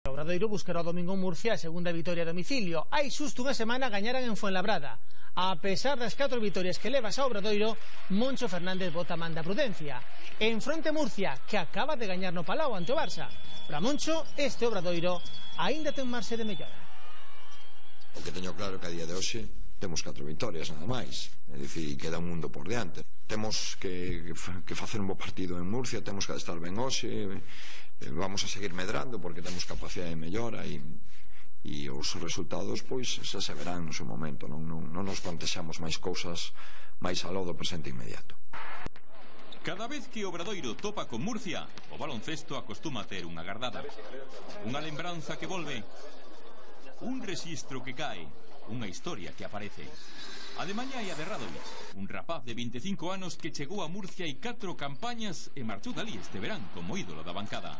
O Obradoiro buscará o domingo en Murcia a segunda vitoria a domicilio. Hai xusto unha semana gañaran en Fuenlabrada. A pesar das 4 vitorias que levas a Obradoiro, Moncho Fernández bota man da prudencia. En fronte Murcia, que acaba de gañar no Palau ante o Barça. Para Moncho, este Obradoiro aínda ten marxe de mellora. O que teño claro que a día de hoxe temos 4 vitorias nada máis, é dicir, queda un mundo por diante. Temos que facer un bo partido en Murcia, temos que estar ben hoxe, vamos a seguir medrando porque temos capacidade de mellora e os resultados pois xa se verán no seu momento, non nos plantexamos máis cousas máis aló do presente inmediato. Cada vez que Obradoiro topa con Murcia, o baloncesto acostuma a ter unha gardada, unha lembranza que volve, un rexistro que cae, unha historia que aparece. A de mañá e a de Radovic, un rapaz de 25 anos que chegou a Murcia e 4 campañas e marchou dali este verán como ídolo da bancada.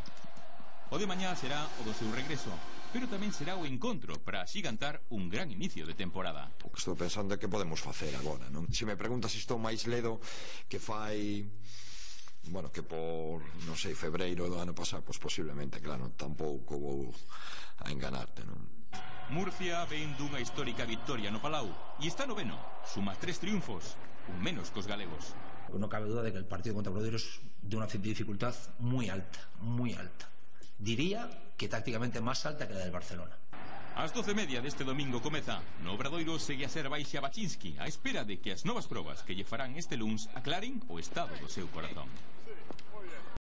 O de mañá será o do seu regreso, pero tamén será o encontro para axigantar un gran inicio de temporada. O que estou pensando é que podemos facer agora, non? Se me preguntas se estou máis ledo que fai, bueno, que por, non sei, febreiro do ano pasado, pois posiblemente, claro, tampouco vou a enganarte, non? Murcia ven dunha histórica victoria no Palau e está noveno, suma 3 triunfos, un menos cos galegos. No cabe duda de que el partido contra Obradoiro es de una dificultad muy alta, muy alta. Diría que tácticamente más alta que la del Barcelona. Ás 12:30 deste domingo comeza. No Obradoiro segue a ser Baixa Baczynski á espera de que as novas probas que lle farán este luns aclaren o estado do seu corazón.